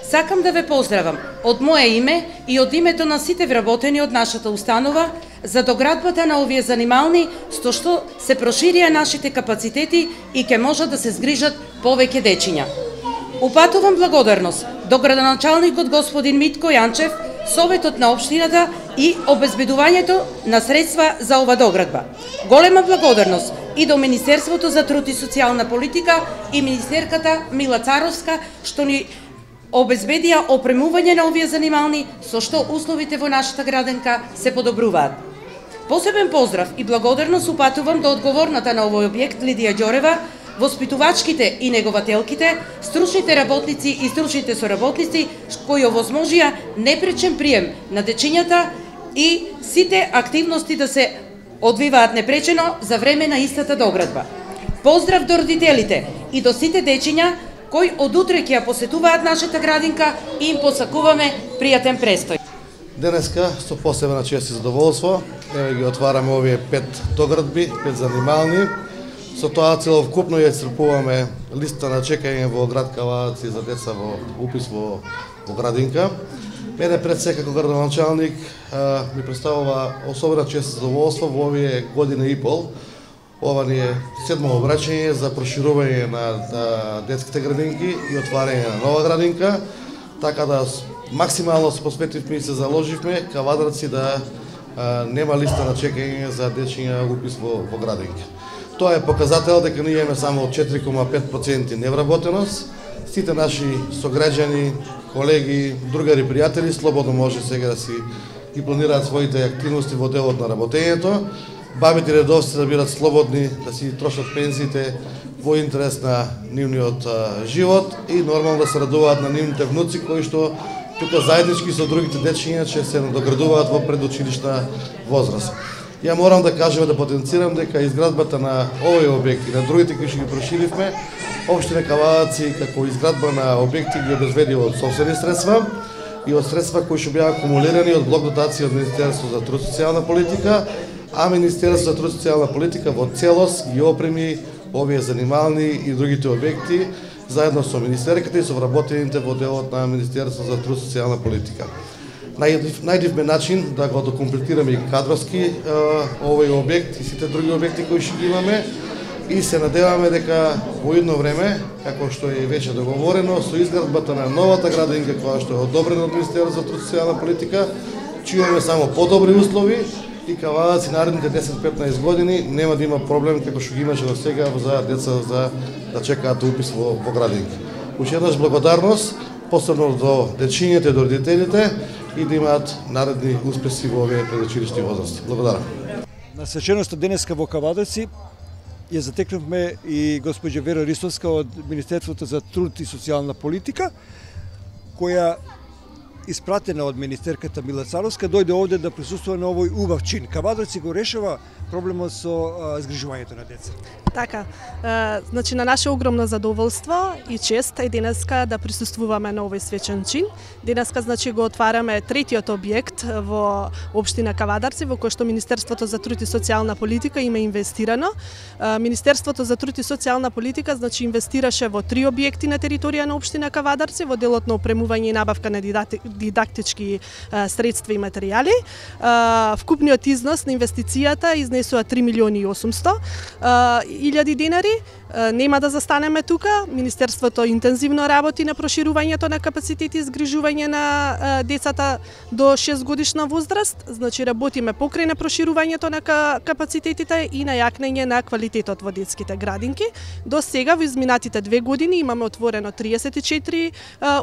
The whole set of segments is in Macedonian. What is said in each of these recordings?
Сакам да ве поздравам од мое име и од името на сите вработени од нашата установа за доградбата на овие занимални, со што се проширија нашите капацитети и ќе можат да се згрижат повеќе дечиња. Упатувам благодарност до градоначалникот господин Митко Јанчев, Советот на општината и обезбедувањето на средства за ова доградба. Голема благодарност и до Министерството за труд и социјална политика и министерката Мила Царовска, што ни обезбедија опремување на овие занимални, со што условите во нашата градинка се подобруваат. Посебен поздрав и благодарност упатувам до одговорната на овој објект Лидија Ѓорева, воспитувачките и негователките, стручните работници и стручните соработници кои овозможија непречен прием на дечињата и сите активности да се одвиваат непречено за време на истата доградба. Поздрав до родителите и до сите дечиња кои од утре ќе ја посетуваат нашата градинка и им посакуваме пријатен престој. Денеска со посебна чест и задоволство ги отвараме овие 5 доградби, 5 занимални. Со тоа целокупно ја исцрпуваме листа на чекање во град Кавадаци за деца во упис во градинка. Мене пред се како градоначалник ми представува особена чест и задоволство во овие година и пол. Ова ни е 7-о обраќање за проширување на детските градинки и отварање на нова градинка, така да максимално се посветивме и се заложивме Кавадарци да нема листа на чекање за дечиња упис во градинки. Тоа е показател дека ние имаме само 4,5% невработеност. Сите наши сограѓани, колеги, другари, пријатели слободно може сега да си ги планираат своите активности во делот на работењето. Бабите редовци да бидат слободни да си трошат пензиите во интерес на нивниот живот и нормално да се радуваат на нивните внуци кои што тука заеднички со другите дечиња ќе се надоградуваат во предучилишна возраст. Ја морам да кажам да потенцирам дека изградбата на овој објект и на другите кои што ги проширивме, општина Кавадаци како изградба на објекти ги обезбеди од сопствени средства и од средства кои што беа акумулирани од блок дотација од Министерството за труд и социјална политика, а Министерството за труд и социјална политика во целост ги опреми овие занимални и другите објекти заедно со министерката и со вработените во делот на Министерството за труд и социјална политика. Најдивме начин да го докомплетираме и кадровски овој објект и сите други објекти кои што ги имаме и се надеваме дека во едно време, како што е веќе договорено, со изградбата на новата градинка која што е одобрена од Министерството за труд и социјална политика, ќе имаме само подобри услови и Кавадаци наредните 10-15 години нема да има проблем како што ги имаше до сега за деца за да чекаат упис во градинки. Уште еднаш благодарност, посебно до дечињата и до родителите и да имаат наредни успеси во овие предучилишни возрасти. Благодарам. На свеченоста денеска во Кавадаци ја затекнавме и госпоѓа Вера Ристовска од Министерството за труд и социјална политика, која испратена од министерката Мила Царовска, дојде овде да присуствува на овој убав чин. Кавадаци го решава проблемот со згрижувањето на деца. Така, значи на наше огромно задоволство и чест е денеска да присуствуваме на овој свечен чин. Денеска значи го отвараме третиот објект во општина Кавадарци во кој што Министерството за труд и социјална политика има инвестирано. Министерството за труд и социјална политика значи инвестираше во 3 објекти на територија на општина Кавадарци во делот на опремување и набавка на дидактички средства и материјали. Вкупниот износ на инвестицијата изнесува 3.800.000 денари. Нема да застанеме тука. Министерството интензивно работи на проширувањето на капацитети и згрижување на децата до 6 годишна возраст. Значи работиме покрај на проширувањето на капацитетите и на јакнење на квалитетот во детските градинки. До сега во изминатите 2 години имаме отворено 34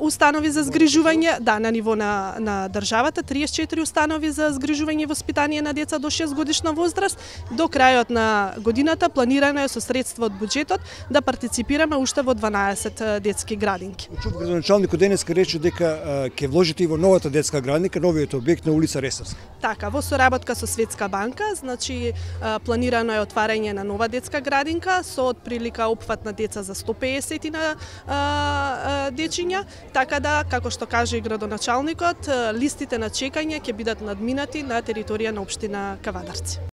установи за згрижување, на ниво на државата, 34 установи за згрижување и воспитание на деца до 6 годишна возраст. До крајот на годината планирано е со средства од буџетот да партиципираме уште во 12 детски градинки. Чув градоначалникот денеска рече дека ќе вложите и во новата детска градинка, новиот објект на улица Ресавска. Така, во соработка со Светска банка, значи планирано е отварање на нова детска градинка со отприлика опфат на деца за 150 на дечиња, така да, како што каже и градоначалникот, листите на чекање ќе бидат надминати на територија на општина Кавадарци.